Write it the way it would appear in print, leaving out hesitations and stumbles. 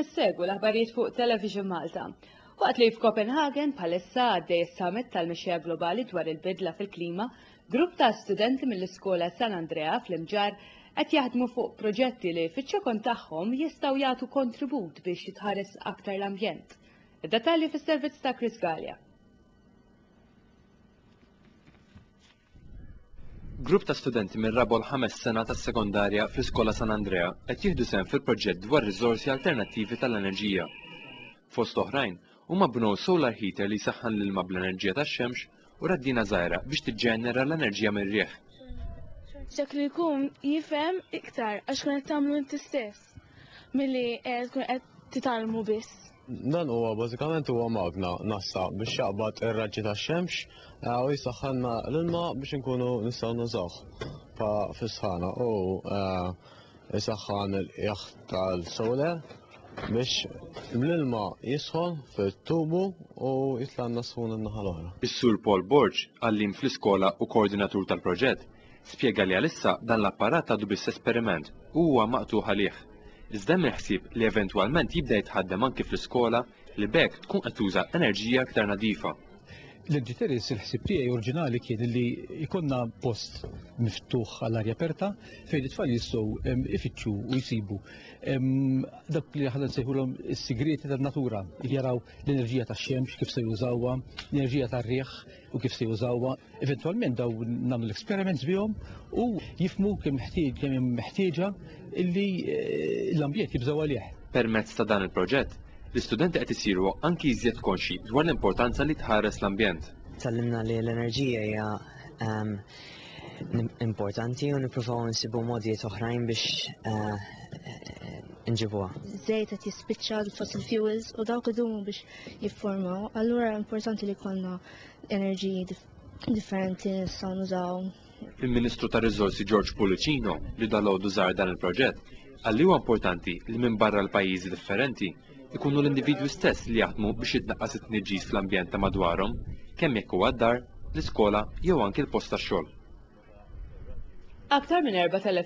issegwu l-aħbarijiet fuq Television Malta. Waqt li f'Copenhagen bħalissa għaddej is-summit tal-mexxejja globali dwar il-bidla fil-klima, grupp ta' studenti mill-iskola San Andrea fl-Imġarr qed jaħdmu fuq proġetti li fiċ-ċokon tagħhom jistgħu jagħtu kontribut biex jitħares aktar l-ambjent. Id-dettalji fis-servizz ta' Chris Galea. Grupp ta' studenti mir-raba' u l-ħames sena tas-sekondarja fl-Iskola San Andrea qed jieħdu sehem fil-proġett dwar riżorsi alternattivi tal-enerġija. Fost oħrajn, huma bnew solar heater li jsaħħan l-ilma bl-enerġija tax-xemx u raddina żgħira biex tiġġenera l-enerġija mir-riħ. Dak li jkun jifhem iktar għax tkun qed tagħmlu inti stess milli tkun qed titgħallmu biss. Dan huwa bażikament huwa magna nassa biex jaqbad ir-raġġi tax-xemx eh, u jisaħħanna l-ilma biex inkunu nistgħu nużawh pa fis-sħana u eh, jisaħħan il-qiegħ tal-solar biex l-ilma jisħon fit-tubu u jitlanna sħun in-naħa l-oħra. Is-Sur Paul Borg, għalliem fl-iskola u koordinatur tal-proġett, spjega li għalissa dan l-apparat għadu biss esperiment u huwa maqtugħ għalih. Iżda hemm il-ħsieb li eventwalment jibda jitħaddem anki fl-iskola li b'hekk tkun qed tuża enerġija aktar nadifa. L-Energy Terrace il-ħsieb tiegħi oriġinali kien li jkollna post miftuħ għall-arja aperta fejn it-tfal jistgħu ifittxu u jsibu dak li aħna nsejħulhom is-sigrieti tan-natura, jaraw l-enerġija tax-xemx kif se jużawha, l-enerġija tar-riħ u kif se jużawha. Eventwalment daw nagħmlu l-experiments bihom u jifmu kemm ħtieġ kemm hemm meħtieġa illi eh, l-ambjent jibżgħu għalih. Permezz ta' dan il-proġett, l-istudenti qed isiru anki iżjed konxji dwar l-importanza li tħares l-ambjent. Tgħallimna li l-enerġija hija ehm, importanti u nippruvaw nsibu modijiet oħrajn biex eh, nġibuha. Żejt qed jispiċċa l-fossil fuels u dawk idumu biex jiffurmaw, allura importanti li jkollna enerġiji differenti nistgħu nużaw. Il-Ministru tar-Riżorsi George Pullicino li dalgħodu żar dan il-proġett qal li huwa importanti li minbarra l-pajjiżi differenti ikunu l-individwi stess li jaħdmu biex jitnaqqas it-tniġġis fl-ambjent ta' madwarhom, kemm jekk huwa d-dar, l-iskola jew anki l-post tax-xogħol. Aktar minn 4,000.